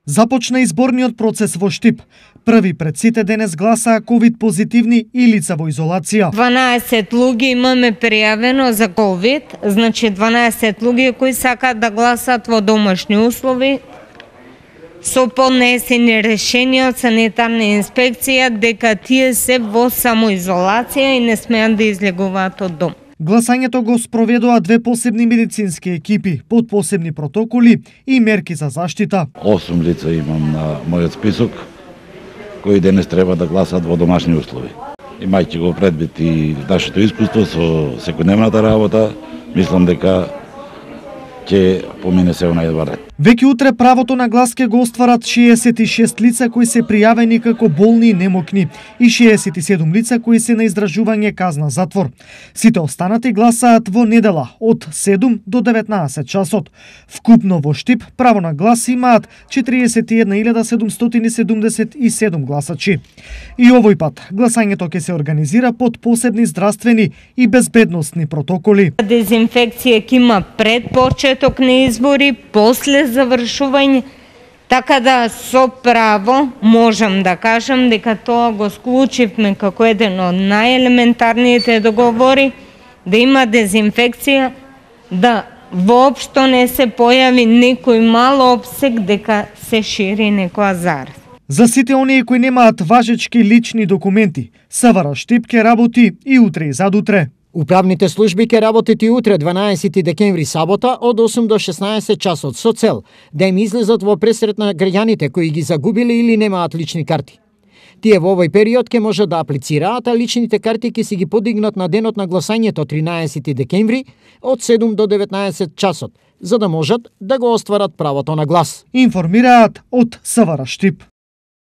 Започна изборниот процес во Штип. Први пред сите денес гласаа ковид позитивни и лица во изолација. 12 луѓе имаме пријавено за ковид, значи 12 луѓе кои сакаат да гласат во домашни услови со поднесени решенија од санитарна инспекција дека тие се во самоизолација и не смеат да излегуваат од дом. Гласањето го спроведоа две посебни медицински екипи, под посебни протоколи и мерки за заштита. 8 лица имам на мојот список, кои денес треба да гласат во домашни услови. Имајќи го предвид и нашето искуство со секојдневната работа, мислам дека ќе помине се најдобар ред. Веќе утре правото на глас ќе го остварат 66 лица кои се пријавени како болни и немокни и 67 лица кои се на издржување казна затвор. Сите останати гласаат во недела од 7 до 19 часот. Вкупно во Штип право на глас имаат 41.777 гласачи. И овој пат гласањето ќе се организира под посебни здравствени и безбедносни протоколи. Дезинфекција ќе има пред почеток на избори, после завршување, така да со право можам да кажам дека тоа го склучивме како еден од најелементарните договори, да има дезинфекција, да воопшто не се појави некој мал опсек дека се шири некоја зараза. За сите оние кои немаат важечки лични документи, СВР Штип ќе работи и утре и задутре. Управните служби ќе работат и утре 12 декември сабота од 8 до 16 часот со цел да им излезат во пресрет на граѓаните кои ги загубиле или немаат лични карти. Тие во овој период ќе можат да аплицираат, а личните карти ќе си ги подигнат на денот на гласањето 13 декември од 7 до 19 часот, за да можат да го остварат правото на глас. Информираат од СВР Штип.